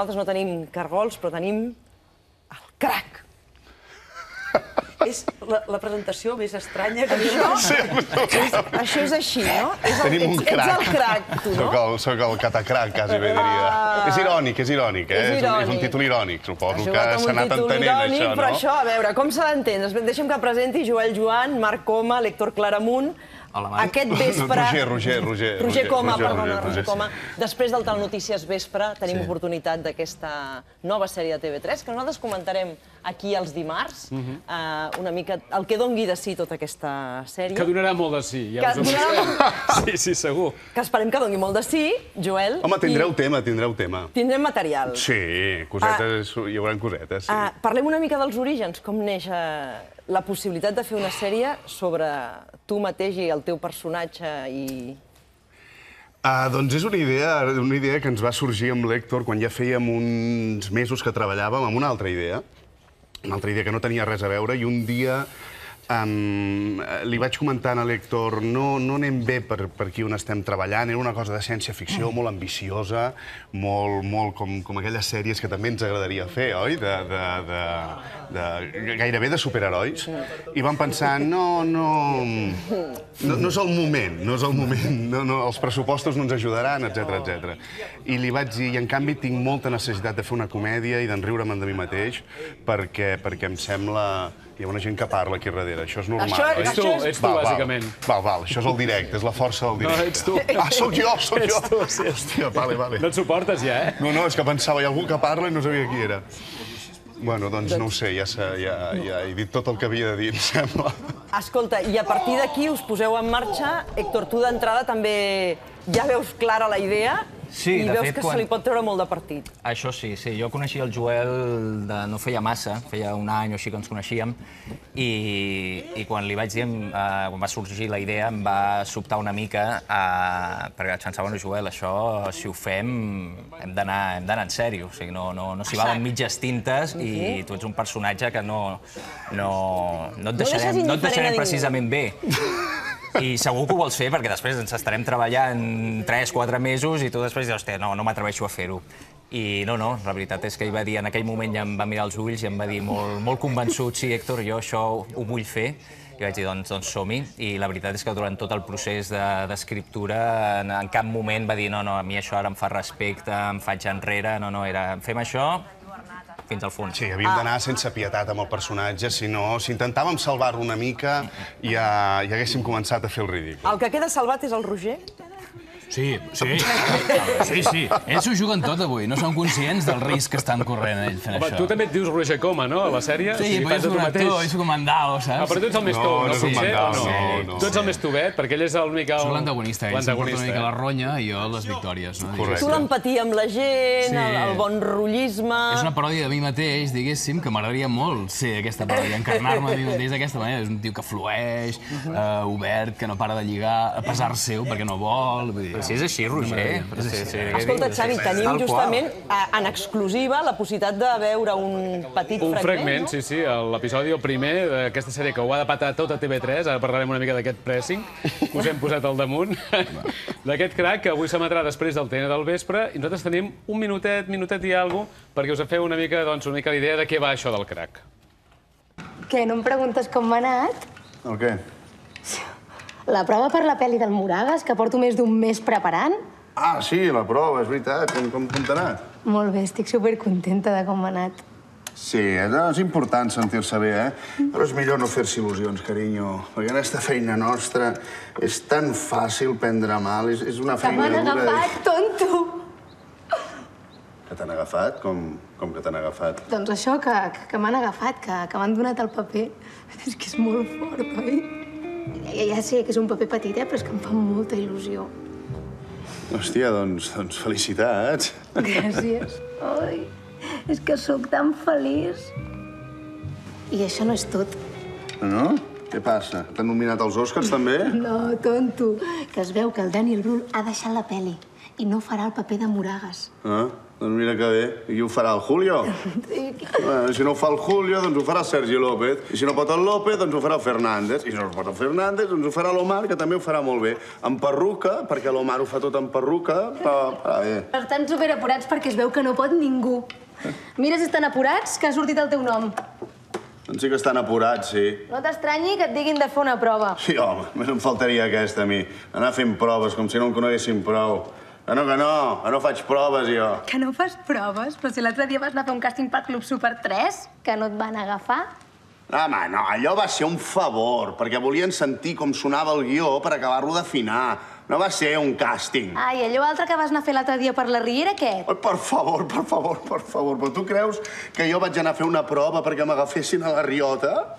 nosaltres no tenim cargols, però tenim el crac. És la presentació més estranya que Això és així, no? Tenim un crac. Ets el crac, tu, no? Soc el catacrac, quasi bé diria. És irònic, és un títol irònic. Suposo que s'ha anat entenent, això, no? Però això, a veure, com s'ha d'entendre? Deixa'm que presenti Joel Joan, Marc Coma, l'Héctor Claramunt. Aquest vespre... Roger Coma, perdona, Roger Coma. Després del Telenotícies Vespre tenim oportunitat d'aquesta nova sèrie de TV3 que nosaltres comentarem aquí els dimarts. Una mica el que dongui de si tota aquesta sèrie. Que donarà molt de si, ja us ho dic. Sí, segur. Que esperem que dongui molt de si, Joel. Home, tindreu tema. Tindrem material. Sí, cosetes, hi haurà cosetes, sí. Parlem una mica dels orígens, com neix la possibilitat de fer una sèrie sobre tu mateix i el teu personatge i... Doncs és una idea que ens va sorgir amb l'Héctor quan ja fèiem uns mesos que treballàvem amb una altra idea que no tenia res a veure, i un dia li vaig comentar a l'Héctor no anem bé per aquí on estem treballant, era una cosa de ciència-ficció molt ambiciosa, molt com aquelles sèries que també ens agradaria fer, oi? Gairebé de superherois. I vam pensar, no és el moment, els pressupostos no ens ajudaran, etc. I li vaig dir, i en canvi tinc molta necessitat de fer una comèdia i d'enriure'm de mi mateix, perquè em sembla... Hi ha una gent que parla aquí darrere, això és normal, oi? Ets tu, bàsicament. Val, això és el directe, és la força del directe. No, ets tu. Soc jo! Ets tu, sí. Hòstia, vale. No et suportes ja, eh? No, és que pensava, hi ha algú que parla i no sabia qui era. Bueno, doncs no ho sé, ja he dit tot el que havia de dir, em sembla. Escolta, i a partir d'aquí us poseu en marxa. Héctor, tu d'entrada també ja veus clara la idea i veus que se li pot treure molt de partit. Això sí. Jo coneixia el Joel no feia massa, feia un any o així que ens coneixíem, i quan li vaig dir, quan va sorgir la idea, em va sobtar una mica, perquè vaig pensar, bueno, Joel, això, si ho fem, hem d'anar en sèrio. O sigui, no s'hi valen mitges tintes i tu ets un personatge que no et deixarem precisament bé. I segur que ho vols fer, perquè després ens estarem treballant 3-4 mesos i tu després dius, hòstia, no m'atreveixo a fer-ho. I no, la veritat és que ell va dir, en aquell moment ja em va mirar els ulls i em va dir molt convençut, sí, Héctor, jo això ho vull fer. I vaig dir, doncs som-hi. I la veritat és que durant tot el procés d'escriptura en cap moment va dir, no, a mi això ara em fa respecte, em faig enrere, era fem això fins al fons. Sí, havíem d'anar sense pietat amb el personatge, si intentàvem salvar-lo una mica ja haguéssim començat a fer el ridícul. El que queda salvat és el Roger? Sí. Ells s'ho juguen tot avui, no són conscients del risc que estan corrent ells fent això. Tu també et dius Roger Coma, no, a la sèrie? Sí, però jo soc un actor, jo soc un mandao, saps? Però tu ets el més tou, no? No és un mandao, no. Tu ets el més tovet, perquè ell és l'únic... Soc l'antagonista, ell se'm porta una mica la ronya i jo les victòries. Tu l'empatia amb la gent, el bon rotllisme... És una paròdia de mi mateix, diguéssim, que m'agradaria molt ser aquesta paròdia, encarnar-me a mi mateix d'aquesta manera. És un tio que flueix, obert, que no para de lligar, a pesar seu, perquè no vol... Si és així, Roger. Escolta, Xavi, tenim justament en exclusiva la possibilitat de veure un petit fragment. Un fragment, sí, l'episodi, el primer d'aquesta sèrie que ho ha de patar tot a TV3, ara parlarem una mica d'aquest pressing, que us hem posat al damunt, d'aquest crac que avui s'emetrà després del TN del vespre, i nosaltres tenim un minutet i alguna cosa, perquè us feu una mica l'idea de què va això del crac. Què, no em preguntes com m'ha anat? El què? La prova per la pel·li del Moragas, que porto més d'un mes preparant? Sí, la prova, és veritat. Com t'ha anat? Molt bé, estic supercontenta de com m'ha anat. Sí, és important sentir-se bé, Però és millor no fer-se il·lusions, carinyo. Perquè aquesta feina nostra és tan fàcil prendre mal, és una feina dura... Que m'han agafat, tonto! Que t'han agafat? Com que t'han agafat? Doncs això, que m'han agafat, que m'han donat el paper. És que és molt fort, oi? Ja sé que és un paper petit, però és que em fa molta il·lusió. Hòstia, doncs felicitats. Gràcies. Ai, és que sóc tan feliç. I això no és tot. No? Què passa? T'han nominat als Oscars, també? No, tonto. Que es veu que el Daniel Brühl ha deixat la pel·li i no farà el paper de Moragas. Doncs mira que bé. I qui ho farà, el Julio? Si no ho fa el Julio, doncs ho farà el Sergi López. I si no pot el López, doncs ho farà el Fernández. I si no pot el Fernández, doncs ho farà l'Omar, que també ho farà molt bé. En perruca, perquè l'Omar ho fa tot en perruca, però bé. Estan superapurats perquè es veu que no pot ningú. Mira si estan apurats, que ha sortit el teu nom. Doncs sí que estan apurats, sí. No t'estranyi que et diguin de fer una prova. Sí, home, només em faltaria aquesta, a mi. Anar fent proves, com si no em coneguessin prou. Que no faig proves, jo. Que no fas proves? Però si l'altre dia vas anar a fer un càsting pel Club Super 3, que no et van agafar. Home, no, allò va ser un favor, perquè volien sentir com sonava el guió per acabar-lo d'afinar. No va ser un càsting. I allò altre que vas anar a fer l'altre dia per la Riera, què? Per favor, però tu creus que jo vaig anar a fer una prova perquè m'agafessin a la riota?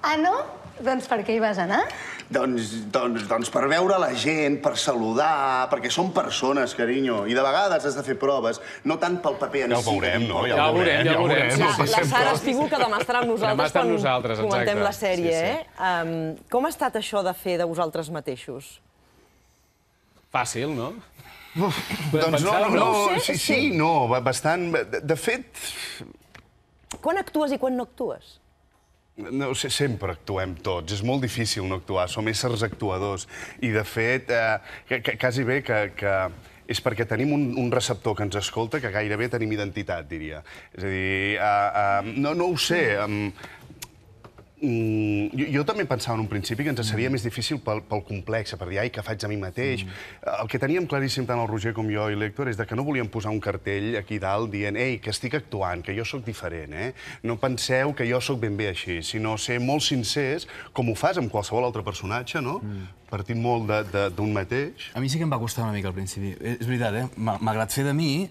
Ah, no? Doncs per què hi vas anar? Doncs per veure la gent, per saludar, perquè són persones, carinyo, i de vegades has de fer proves, no tant pel paper en si. Ja ho veurem. La Sara Espígol, que demà estarà amb nosaltres quan comentem la sèrie, eh? Com ha estat això de fer de vosaltres mateixos? Fàcil, no? Doncs no, bastant. De fet... Quan actues i quan no actues? No, sempre actuem tots. És molt difícil no actuar. Som éssers actuadors. I, de fet, quasi bé que és perquè tenim un receptor que ens escolta que gairebé tenim identitat, diria. És a dir, no ho sé. Jo també pensava en un principi que ens seria més difícil pel complex, per dir, ai, què faig a mi mateix. El que teníem claríssim tant el Roger com jo i l'Héctor és que no volíem posar un cartell aquí dalt dient, ei, que estic actuant, que jo sóc diferent, eh? No penseu que jo sóc ben bé així, sinó ser molt sincers, com ho fas amb qualsevol altre personatge, no? Partint molt d'un mateix. A mi sí que em va costar una mica al principi. És veritat, eh? Malgrat fer de mi,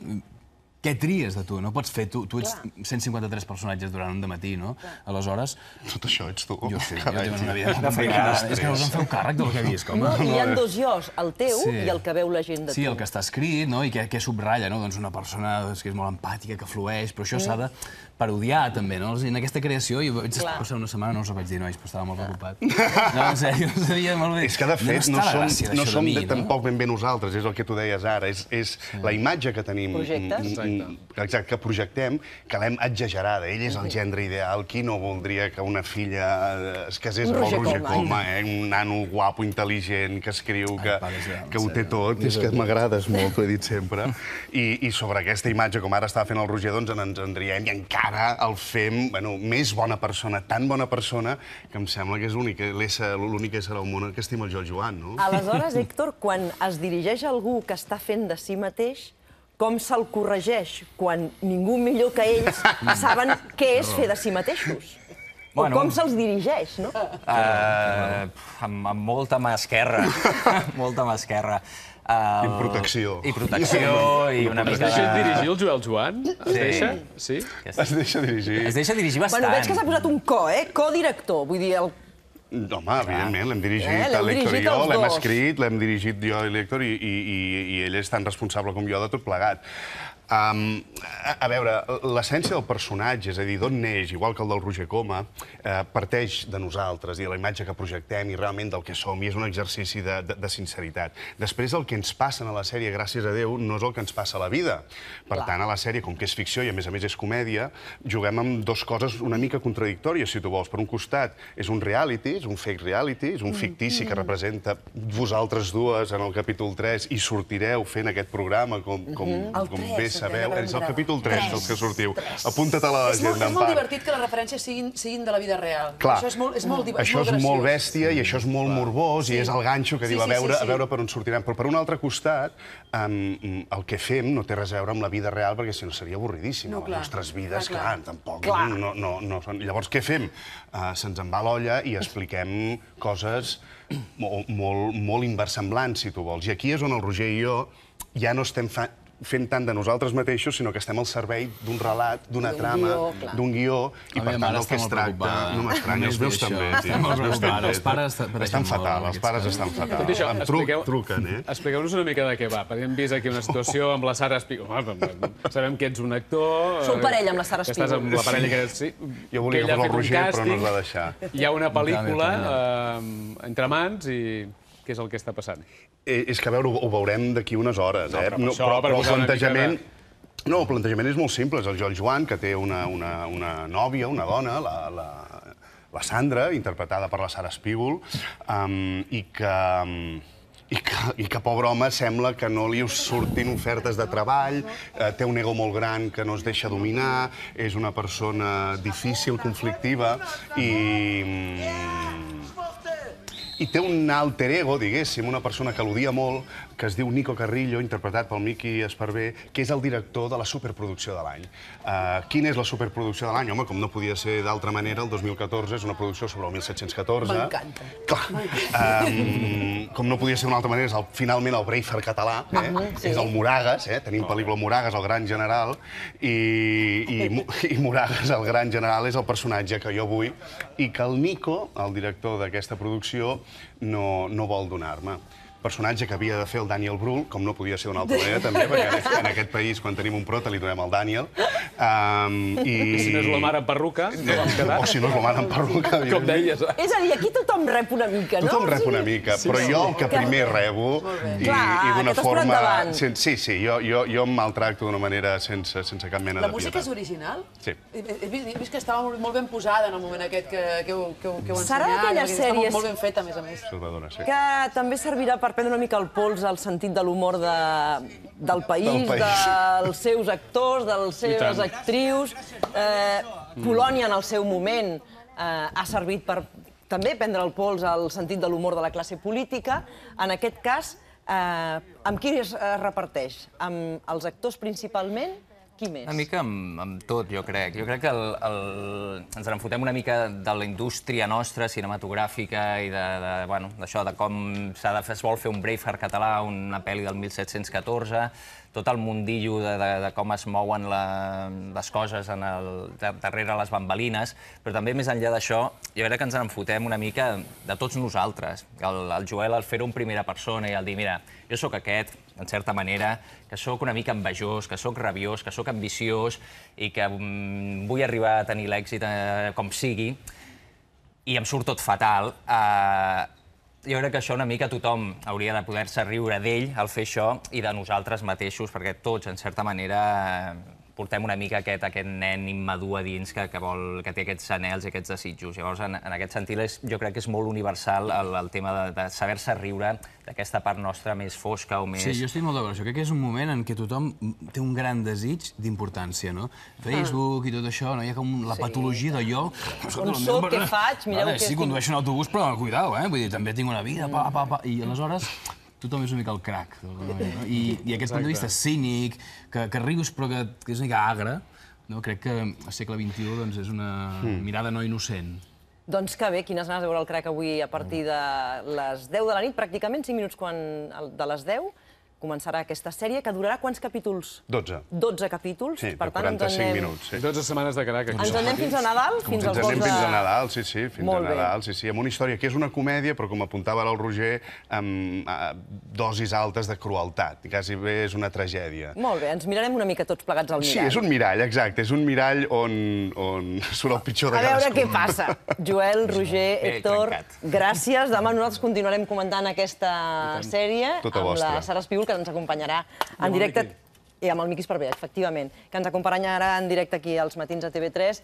què tries de tu? No pots fer... Tu ets 153 personatges durant un dematí, no? Aleshores... Tot això ets tu. Jo sé, jo tinc una vida molt complicada. És que no us en feu càrrec del que visc, home. Hi ha dos jos, el teu i el que veu la gent de tu. Sí, el que està escrit, no? I què subratlla, no? Doncs una persona que és molt empàtica, que flueix, però això s'ha de parodiar, també, no? En aquesta creació, jo vaig passar una setmana, no us ho vaig dir, nois, però estava molt preocupat. No, en sèrio, no sabia molt bé. És que, de fet, no som tampoc ben bé nosaltres, és el que tu deies ara. És la imatge que tenim... Projectes. Exacte, que projectem, que l'hem exagerada. Ell és el gendre ideal. Qui no voldria que una filla es casés amb el Roger Coma, un nano guapo, intel·ligent, que escriu, que ho té tot. És que m'agrades molt, t'ho he dit sempre. I sobre aquesta imatge, com ara estava fent el Roger, doncs ens en riem i encara el fem més bona persona, tan bona persona, que em sembla que és l'únic ésser al món que estima el Joan, no? Aleshores, Héctor, quan es dirigeix a algú que està fent de si mateix, com se'l corregeix quan ningú millor que ells saben què és fer de si mateixos? O com se'ls dirigeix, no? Amb molta mà esquerra. Molta mà esquerra. I protecció. I protecció, i una mica... Es deixa dirigir el Joan? Es deixa? Sí? Es deixa dirigir. Es deixa dirigir bastant. Bueno, veig que s'ha posat un co-director, vull dir... Home, evidentment, l'hem dirigit l'Héctor i jo, l'hem escrit, l'hem dirigit jo i l'Héctor, i ell és tan responsable com jo de tot plegat. A veure, l'essència del personatge, és a dir, d'on neix, igual que el del Roger Coma, parteix de nosaltres i de la imatge que projectem i realment del que som, i és un exercici de sinceritat. Després, el que ens passa a la sèrie, gràcies a Déu, no és el que ens passa a la vida. Per tant, a la sèrie, com que és ficció i a més és comèdia, juguem amb dues coses una mica contradictòries, si tu vols. Per un costat, és un reality, és un fake reality, és un fictici que representa vosaltres dues en el capítol 3 i sortireu fent aquest programa com bé sabeu. És el capítol 3 dels que sortiu. Apunta't a l'agenda, És molt divertit que les referències siguin de la vida real. Clar, això és molt graciós. Això és molt bèstia i això és molt morbós i és el ganxo que diu a veure per on sortirem. Però per un altre costat, el que fem no té res a veure amb la vida real perquè si no seria avorridíssim. Les nostres vides, clar, tampoc no són... Llavors, què fem? Se'ns en va l'olla i expliquem coses molt inversemblants, si tu vols. I aquí és on el Roger i jo ja no estem fent tant de nosaltres mateixos, sinó que estem al servei d'un relat, d'una trama, d'un guió, i per tant el que es tracta... No m'estranya, els meus també. Els pares estan fatal, els pares estan fatal. Tot això, Em truquen, eh? Expliqueu-nos una mica de què va, perquè hem vist aquí una situació amb la Sara Espígol. Sabem que ets un actor... Sou parella amb la Sara Espígol. Que estàs amb la parella que ets, sí. Jo volia que fos el Roger, però no es va deixar. Hi ha una pel·lícula entre mans i què és el que està passant? És que, a veure, ho veurem d'aquí unes hores, eh? Però el plantejament... No, el plantejament és molt simple. És el Joan, que té una nòvia, una dona, la Sandra, interpretada per la Sara Espígol, i que, pobre home, sembla que no li surtin ofertes de treball, té un ego molt gran que no es deixa dominar, és una persona difícil, conflictiva, i té un alter ego, diguéssim, una persona que l'odia molt, que es diu Nico Carrillo, interpretat pel Miqui Esparvé, que és el director de la superproducció de l'any. Quina és la superproducció de l'any? Home, com no podia ser d'altra manera, el 2014 és una producció sobre el 1714. M'encanta. Clar. Com no podia ser d'una altra manera, és finalment el Braveheart català, és el Moragas, tenim pel·lícula Moragas, el gran general, i Moragas, el gran general, és el personatge que jo vull i que el Nico, el director d'aquesta producció, no vol donar-me. Personatge que havia de fer el Daniel Brühl, com no podia ser d'una altra manera, també, perquè en aquest país, quan tenim un prota, li donem el Daniel. Si no és la mare en perruca, no vam quedar. O si no és la mare en perruca. Com deies. És a dir, aquí tothom rep una mica, no? Tothom rep una mica, però jo el que primer rebo, i d'una forma... Sí, jo em maltracto d'una manera sense cap mena de pietat. La música és original? Sí. He vist que estava molt ben posada en el moment aquest que heu ensenyat. Serà d'aquelles sèries... Està molt ben feta, a més a més. Que també servirà per prendre una mica el pols al sentit de l'humor del país, dels seus actors, de les seves actrius. Polònia, en el seu moment, ha servit per també prendre el pols al sentit de l'humor de la classe política. En aquest cas, amb qui es reparteix? Amb els actors principalment? Qui més? Una mica amb tot, jo crec. Jo crec que ens enfotem una mica de la indústria nostra, cinematogràfica, i d'això, de com es vol fer un Braveheart català, una pel·li del 1714, tot el mundillo de com es mouen les coses darrere les bambalines, però també més enllà d'això, jo crec que ens enfotem una mica de tots nosaltres. El Joel, al fer-ho en primera persona i al dir, mira, jo sóc aquest, en certa manera, que sóc una mica envejós, que sóc rabiós, que sóc ambiciós i que vull arribar a tenir l'èxit com sigui, i em surt tot fatal. Jo crec que això una mica tothom hauria de poder-se riure d'ell al fer això i de nosaltres mateixos, perquè tots, en certa manera, portem una mica aquest nen immadur a dins que té aquests anhels i aquests desitjos. Llavors, en aquest sentit, jo crec que és molt universal el tema de saber-se riure d'aquesta part nostra més fosca o més... Sí, jo estic molt d'acord. Jo crec que és un moment en què tothom té un gran desig d'importància, no? Facebook i tot això, hi ha com la patologia d'allò... On soc, què faig, mireu què estic... Sí, condueixo un autobús, però cuidao, vull dir, també tinc una vida, i aleshores... Tothom és una mica el crac. I aquest punt de vista cínic, que rius però que és una mica agre, crec que al segle XXI és una mirada no innocent. Doncs que bé, quines ganes de veure el crac avui a partir de les 10 de la nit, pràcticament 5 minuts de les 10. Començarà aquesta sèrie, que durarà quants capítols? 12. 12 capítols. Sí, de 45 minuts. 12 setmanes de crac. Ens en anem fins a Nadal? Ens en anem fins a Nadal, sí, fins a Nadal, sí. Amb una història que és una comèdia, però com apuntava ara el Roger, amb dosis altes de crueltat. Quasi bé és una tragèdia. Molt bé, ens mirarem una mica tots plegats al mirall. Sí, és un mirall, exacte. És un mirall on surt el pitjor de cadascú. A veure què passa. Joel, Roger, Héctor, gràcies. Demà nosaltres continuarem comentant aquesta sèrie amb la Sara Espígol, que ens acompanyarà en directe, i amb el Miqui Esparvé, efectivament, que ens acompanyarà en directe aquí als matins a TV3.